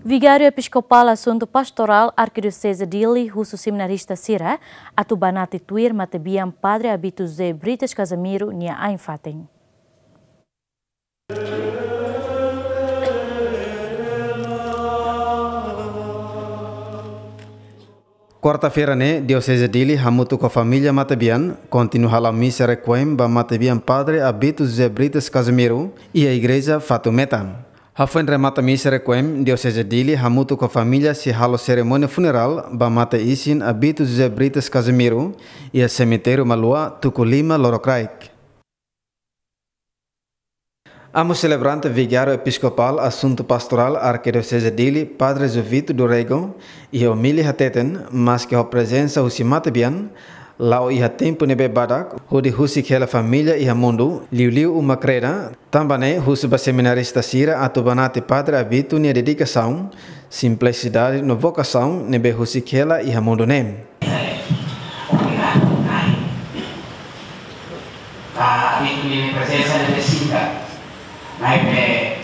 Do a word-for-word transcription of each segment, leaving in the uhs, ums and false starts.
Vigáriu Episkopál Asuntu Pastorál Arkidioseze Dili husu seminarista sira atu banati tuir matebian Padre Abito José Brites Casimiro nia ain-fatin. Kuarta-feira ne'e, Dioseze Dili hamutuk ho família matebian kontinua hala'o misa requiem ba matebian Padre Abito José Brites Casimiro iha Igreja Fatumeta. Hafoin remata misa requiem, Dioseze Dili hamutuk ho família sei halo serimónia funerál ba mate-isin Abito José Brites Casimiro iha semitériu Malua, tuku lima, Lorokraik. Amu selebrante Vigáriu Episkopál Asuntu Pastorál Arkidioseze Dili, Padre Jovito do Rego, iha omilia hateten, maske ho prezensa husi matebian, la'o iha tempu ne'ebé badak, hodi husik hela família iha mundu, liuliu uma kreda, tanba ne'e husu ba seminarista sira atu banati Padre Abito nia dedikasaun, simplisidade no vokasaun ne'ebé husik hela iha mundu ne'e. Obrigadu, Na'i. Ba Abito nia prezensa ne'ebé singkat, maibé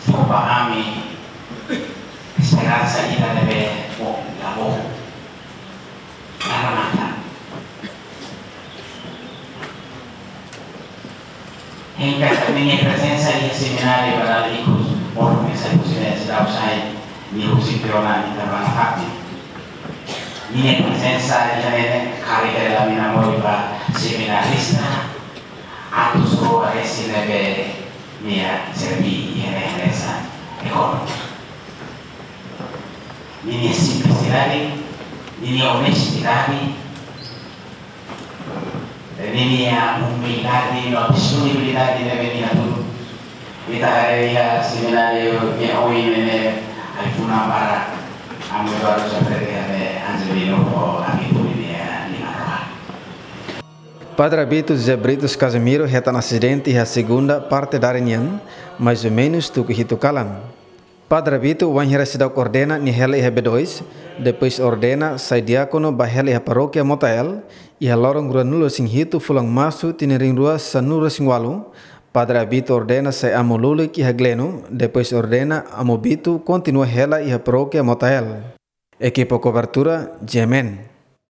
fó ba ami esperansa ida ne'ebé boot, la boot. Para matan. Hengka ninia prezensa iha semináriu ba dala ikus, por mesa husi Universidade Usai, nia husi Piona ita ba nafatin. Ninia prezensa iha ne'e karik ela mina moris ba seminarista, atu sura esi ne'ebé nia serví iha ne'e hanesan ekonomi. Ninia simplisidade, ninia onestidade, ninia umildade no disponibilidade ne'ebé nia hatudu. Ita haree iha semináriu nia oin ne'e ai-funan barak, ami baru seperti ane Angelino ho Abito ninia liman-rua. Padre Abito José Brites Casimiro hetan asidente iha segunda parte dadeer nian, mais ou menus tuku hitu kalan. Padre Abito wainhira seidauk ordena nia hela iha B dois, depois ordena sai diákono ba hela iha parókia Motael, iha loron ruanulu-resin-hitu fulan Marsu tinan rihun rua sanulu-resin-ualu, Padre Abito ordena sai amu lulik iha Gleno, depois ordena amu Bito kontinua hela iha parókia Motael. Ekipa kobertura, G M N.